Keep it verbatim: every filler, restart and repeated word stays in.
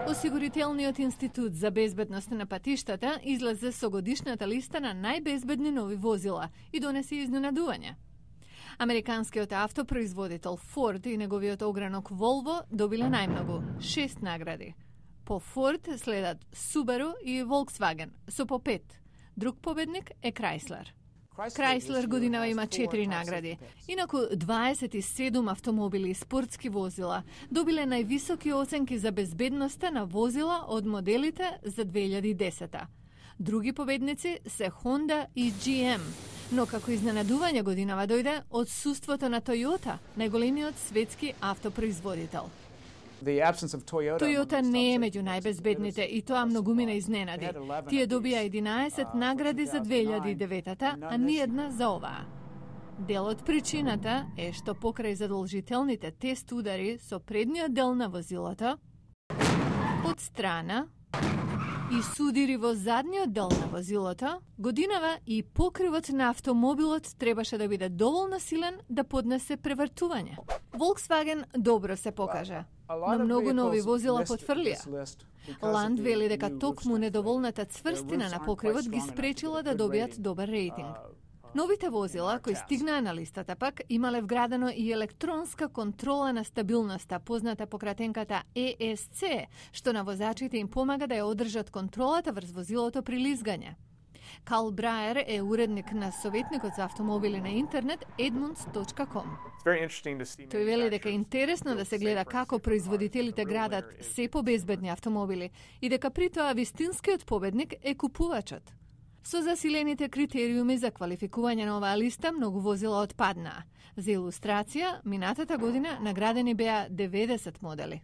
Осигурителниот институт за безбедност на патиштата излезе со годишната листа на најбезбедни нови возила и донесе изненадување. Американскиот автопроизводител Ford и неговиот огранок Volvo добиле најмногу – шест награди. По Ford следат Subaru и Volkswagen со по пет. Друг победник е Chrysler. Chrysler годинава има четири награди. Инаку дваесет и седум автомобили и спортски возила добиле највисоки оценки за безбедноста на возила од моделите за две илјади и десета. Други победници се Honda и G M. Но како изненадување годинава дојде одсуството на Toyota, најголемиот светски автопроизводител. Toyota не е меѓу најбезбедните и тоа многумина изненади. Тие добија единаесет награди за две илјади и девета, а ни една за оваа. Дел од причината е што покрај задолжителните тест удари со предниот дел на возилото, од страна и судири во задниот дел на возилото, годинава и покривот на автомобилот требаше да биде доволно силен да поднесе превртување. Volkswagen добро се покажа, но многу нови возила потврлија. Land вели дека токму недоволната цврстина на покривот ги спречила да добијат добар рейтинг. Новите возила кои стигнаа на листата пак имале вградено и електронска контрола на стабилноста, позната по кратенката E S C, што на возачите им помага да ја одржат контролата врз возилото при лизгање. Карл Браер е уредник на советникот за автомобили на интернет едмундс точка ком. Тој вели дека е интересно да се гледа како производителите градат се побезбедни автомобили и дека при тоа вистинскиот победник е купувачот. Со засилените критериуми за квалификување на оваа листа, многу возила отпаднаа. За илустрација, минатата година наградени беа деветдесет модели.